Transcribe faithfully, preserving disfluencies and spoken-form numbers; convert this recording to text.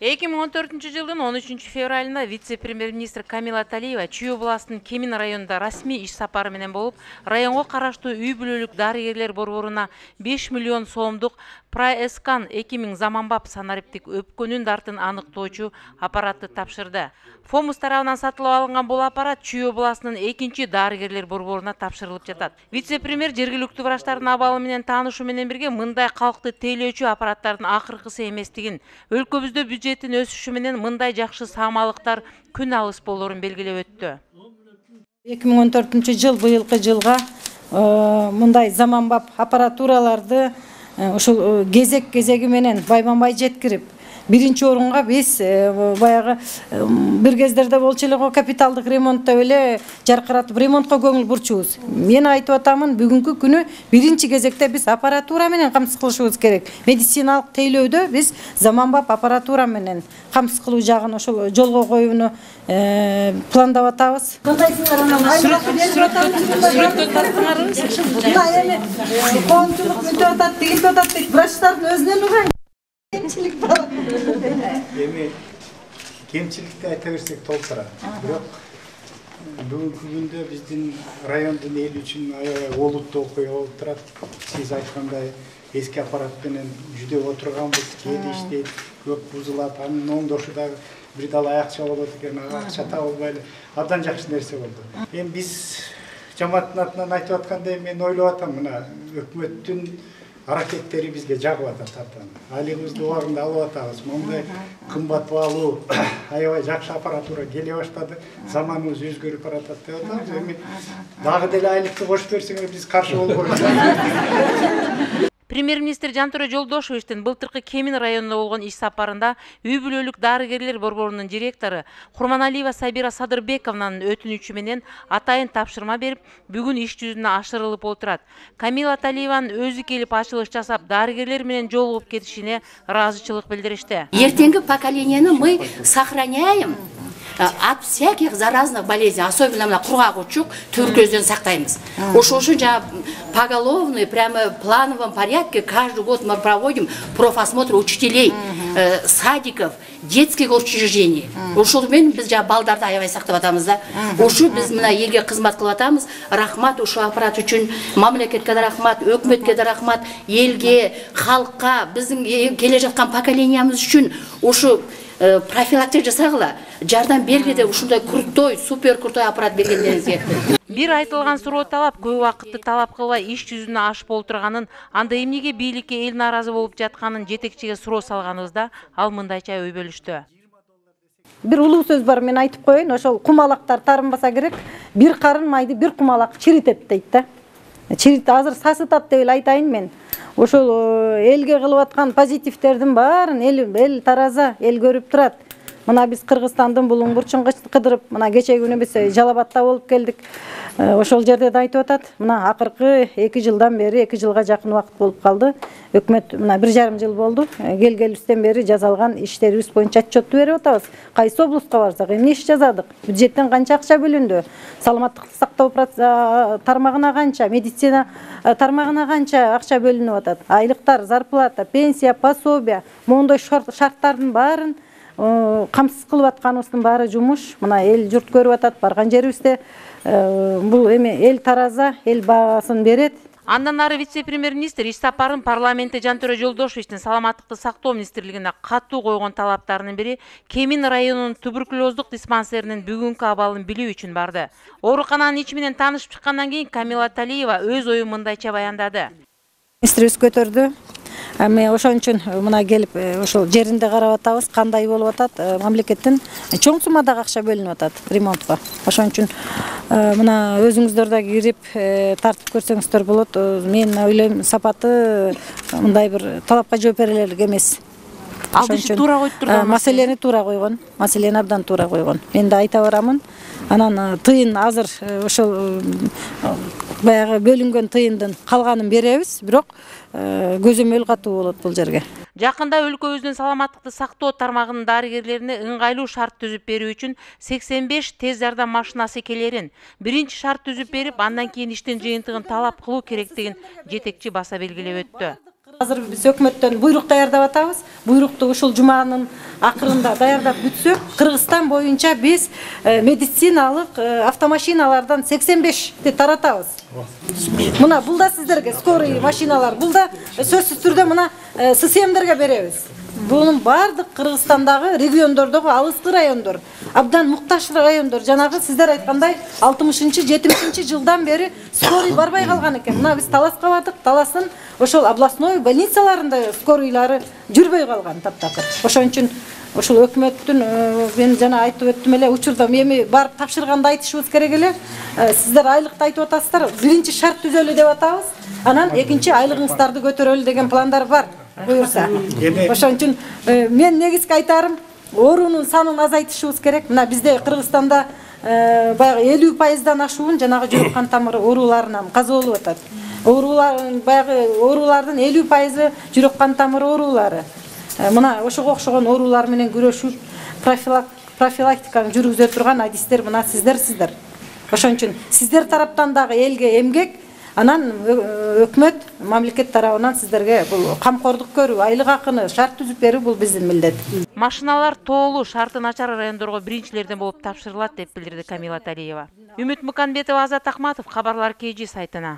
эки миң он төртүнчү жылдын он үчүнчү февралында вице-премьер-министр Камила Талиева Чүй областынын Кемин районунда расмий иш сапары менен болуп, районго караштуу үй бүлөлүк дарыгерлер борборуна беш миллион сомдук Прайэскан эки миң заманбап санариптик өпкөнүн дартын аныктоочу аппаратты тапшырды. Фомус тарабынан сатылып алынган бул аппарат Чүй областынын экинчи дарыгерлер борборуна тапшырылып жатат. Вице-премьер жергиликтүү врачтардын абалы менен таанышуу менен бирге мындай калкты тейлөөчү аппараттардын акыркысы эместигин, өлкөбүздө бюджеттин өсүшү менен мындай жакшы саамалыктар күн алыс болорун белгилеп өттү. эки миң он төртүнчү жыл быйылкы жылга мындай заманбап аппаратураларды ушул кезек кезеги менен байбан-бай жеткирип, биринчи орунга биз баягы бир кездерде болчу эле го капиталдык ремонтто эле жаркыратып ремонтко көңүл бурчубуз. Мен айтып атамын, бүгүнкү күнү биринчи кезекте биз аппаратура менен камсыз кылышыбыз керек. Медициналык тейлөөдө биз заманбап аппаратура менен камсыз кылуу жагын ошол жолго коюуну пландап атабыз. Кандайсыңар анан? Сүрөткө тартыңарбы? Мына эми коомчулук мынтип атат, тигинтип атат дейт. Врачтардын өзүнөн уган. Кемчилик бар. Эми кемчиликти айта берсек толтура. Бирок бүгүнкү күндө биздин райондун эли үчүн аябай олуттуу окуя болуп турат. Сиз айткандай эски аппарат менен жүдөп отурганбыз, кээде иштейт, көп бузулат, анын оңдошу дагы бир дал аякча болот экен, акча табылбай эле абдан жакшы нерсе болду. Эми биз жамааттын атынан айтып аткандай мен ойлоп атам, мына өкмөттүн аракеттери бизге жагып атат абдан. Айлыгыбызды убагында алып атабыз. Мондай кымбат баалуу аябай жакшы аппаратура келе баштады. Заманыбыз өзгөрүп баратат деп атабыз. Эми дагы деле айлыкты кошуп берсеңер биз каршы болбойбуз. Премьер-министр Жантөре Жолдошевичтин былтыркы Кемин районунда болгон иш сапарында үй бүлөлүк дарыгерлер борборунун директору Курманалиева Сабира Садырбековнанын өтүнүчү менен атайын тапшырма берип, бүгүн иш жүзүнө ашырылып отурат. Камила Талиеванын өзү келип ачылыш жасап, дарыгерлер менен жолугуп кетишине ыраазычылык билдиришти. Ертеңги поколениени мы сохраняем от всяких заразных болезней, особенно мына кургак учук, туберкулезден сактайбыз. Ошол үчүн жана поголовный, прямо в плановом порядке каждый год мы проводим профосмотр учителей, садиков, детских учреждений. Ошол менен биз жана балдарды аябай сактап атабыз да. Ошо биз мына элге кызмат кылып атабыз. Рахмат ушул аппарат үчүн, мамлекетке да рахмат, өкмөткө да рахмат, элге, халкка, биздин келе жаткан поколениябыз үчүн ушу профилактика жасагыла, жардам бергиле деп ушундай крутой, супер крутой аппарат бергендериңизге. Бир айтылган суроо талап көп убакытты талап кылбай иш жүзүнө ашып олтурганын, анда эмнеге бийликке эл нааразы болуп жатканын жетекчиге суроо салганыбызда ал мындайча ой бөлүштү. Бир улуу сөз бар, мен айтып коеюн, ошол кумалактар тарынбаса керек, бир карын майды бир кумалак чиритет дейт да. Чирит азыр сасытат деп эле айтайын мен. Ошол элге кылып аткан позитивтердин баарын эл эл тараза, эл көрүп турат. Мына биз Кыргызстандын булуң бурчун кыдырып, мына кечеги күнү биз Жалабатта болуп келдик. Ошол жерде да айтып атат. Мына акыркы эки жылдан бери, эки жылга жакын убакыт болуп калды. Өкмөт мына бир жарым жыл болду. Келгелибизден бери жазалган иштерибиз боюнча отчетту берип атабыз. Кайсы облустка барсак, эмне иш жазадык? Бюджеттен канча акча бөлүндү? Саламаттыкты сактоо тармагына канча, медицина тармагына канча акча бөлүнүп атат? Айлыктар, зарплата, пенсия, пособие, моундай шарттардын баарын камсыз кылып атканыбыздын баары жумуш. Мына эл журт көрүп атат, барган жерибизде бул эми эл тараза, эл баасын берет. Андан ары вице-премьер-министр иш сапарын парламентте Жантөре Жолдошевичтин саламаттыкты сактоо министрлигине катуу койгон талаптарынын бири Кемин районунун туберкулездук диспансеринин бүгүнкү абалын билүү үчүн барды. Оорукананын ичи менен таанышып чыккандан кийин Камила Талиева өз оюн мындайча баяндады. Министрибиз көтөрдү. Эми ошон үчүн мына келип ошол жеринде карап атабыз, кандай болуп атат. Мамлекеттен чоң суммадагы акча бөлүнүп атат ремонтко. Ошон үчүн мына өзүңүздөр да кирип тартып көрсөңүздөр болот. Мен ойлойм, сапаты мындай бир талапка жооп берелик эмес. Ошон үчүн туура коюп турган маселени туура койгон, маселени абдан туура койгон. Мен да айта барамын. Анан тыйын азыр ошол баягы бөлүнгөн тыйындын калганын беребиз, бирок көзөмөл катуу болот бул жерге. Жакында өлкөбүздүн саламаттыкты сактоо тармагынын дарыгерлерине ыңгайлуу шарт түзүп берүү үчүн сексен беш тез жардам машинасы келерин, биринчи шарт түзүп берип, андан кийин иштин жыйынтыгын талап кылуу керектигин жетекчи баса белгилеп өттү. Азыр биз өкмөттөн буйрук даярдап атабыз. Буйрукту ушул жуманын акырында даярдап бүтсөк, Кыргызстан боюнча биз медициналык автомашиналардан сексен бешти таратабыз. Мына бул да сиздерге скорый машиналар, бул да сөзсүз түрдө мына ССМдерге беребиз. Бунун бардык Кыргызстандагы региондордогу алыскы райондор, абдан муктаж райондор, жанагы сиздер айткандай алтымышынчы жетимишинчи жылдан бери скорый барбай калган экен. Мына биз Таласка бардык, Таластын ошол областной больницаларында скорийлары жүрбөй калган таптакыр. Ошон үчүн ошол өкмөттүн мен жана айтып өттүм эле, учурда эми барып тапшырганды айтышыбыз керек эле. Сиздер айлыкты айтып атасыздар, биринчи шарт түзөлү деп атабыз. Анан экинчи айлыгыңыздарды көтөрөлү деген пландар бар. Буюрса. Ошон үчүн мен негизги айтарым, оорунун санын азайтышыбыз керек. Мына бизде Кыргызстанда баягы элүү пайыздан ашуун жанагы жүрөк кан тамыры ооруларынан каза болуп атат. Оорулар баягы оорулардын элүү пайызы жүрөк кан тамыры оорулары. Мына ошого окшогон оорулар менен күрөшүп, профилактиканы жүргүзө турган адистер мына сиздер сиздер. Ошон үчүн сиздер тараптан дагы элге эмгек, анан өкмөт, мамлекет тарабынан сиздерге бул камкордук көрүү, айлык акыны шарт түзүп берүү бул биздин милдет. Машиналар тоолуу, шарты начар райондорго биринчилерден болуп тапшырылат деп билдирди Камила Талиева. Үмүт Муканбетова, Азат Акматов, Кабарлар кей жи сайтына.